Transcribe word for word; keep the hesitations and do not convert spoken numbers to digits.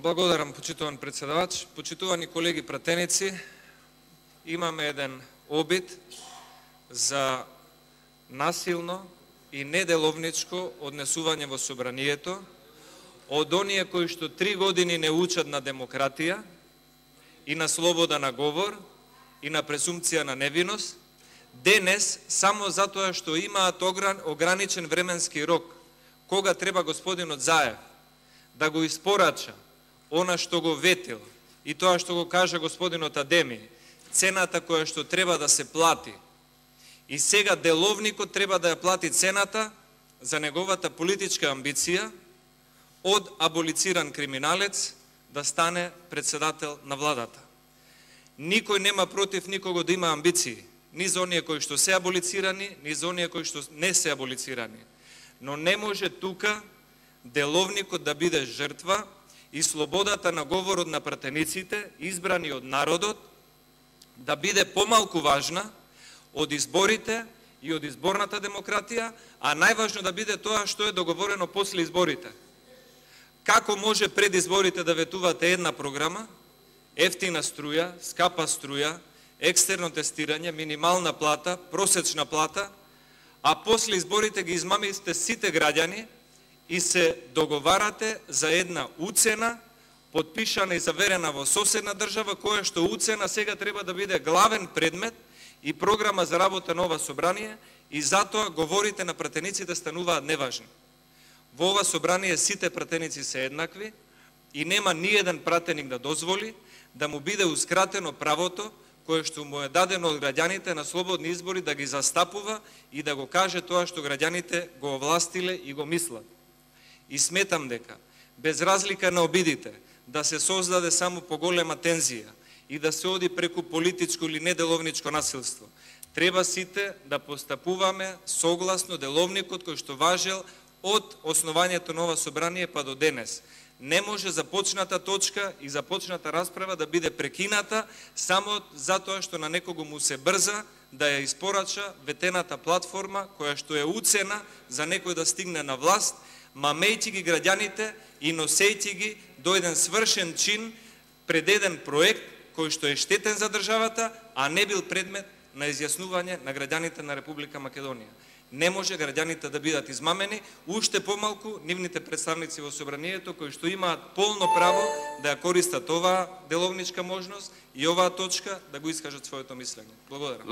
Благодарам, почитуван председавач. Почитувани колеги пратеници, имаме еден обид за насилно и неделовничко однесување во собранието од оние кои што три години не учат на демократија и на слобода на говор и на презумпција на невиност, денес, само затоа што имаат ограничен временски рок, кога треба господинот Заев да го испорача она што го ветил и тоа што го кажа господинот Адеми, цената која што треба да се плати, и сега деловникот треба да ја плати цената за неговата политичка амбиција од аболициран криминалец да стане председател на владата. Никој нема против никого да има амбиции, ни за оние кои што се аболицирани, ни за оние кои што не се аболицирани. Но не може тука деловникот да биде жртва и слободата на говорот на пратениците, избрани од народот, да биде помалку важна од изборите и од изборната демократија, а најважно да биде тоа што е договорено после изборите. Како може пред изборите да ветувате една програма, ефтина струја, скапа струја, екстерно тестирање, минимална плата, просечна плата, а после изборите ги измамите сите граѓани и се договарате за една уцена, подпишана и заверена во соседна држава, која што уцена сега треба да биде главен предмет и програма за работа на ова собрание, и затоа говорите на пратениците стануваат неважни. Во ова собрание сите пратеници се еднакви и нема ни еден пратеник да дозволи да му бидеускратено правото кое што му е дадено од граѓаните на слободни избори да ги застапува и да го каже тоа што граѓаните го овластиле и го мислат. И сметам дека, без разлика на обидите, да се создаде само поголема тензија и да се оди преку политичко или неделовничко насилство, треба сите да постапуваме согласно деловникот кој што важел од основањето на ова собрание па до денес. Не може започната точка и започната расправа да биде прекината само затоа што на некого му се брза да ја испорача ветената платформа која што е уцена за некој да стигне на власт, мамејќи ги граѓаните и носејќи ги до еден свршен чин пред еден проект кој што е штетен за државата, а не бил предмет на изјаснување на граѓаните на Република Македонија. Не може граѓаните да бидат измамени, уште помалку нивните представници во собранието кои што имаат полно право да ја користат оваа деловничка можност и оваа точка да го искажат своето мислење. Благодарам.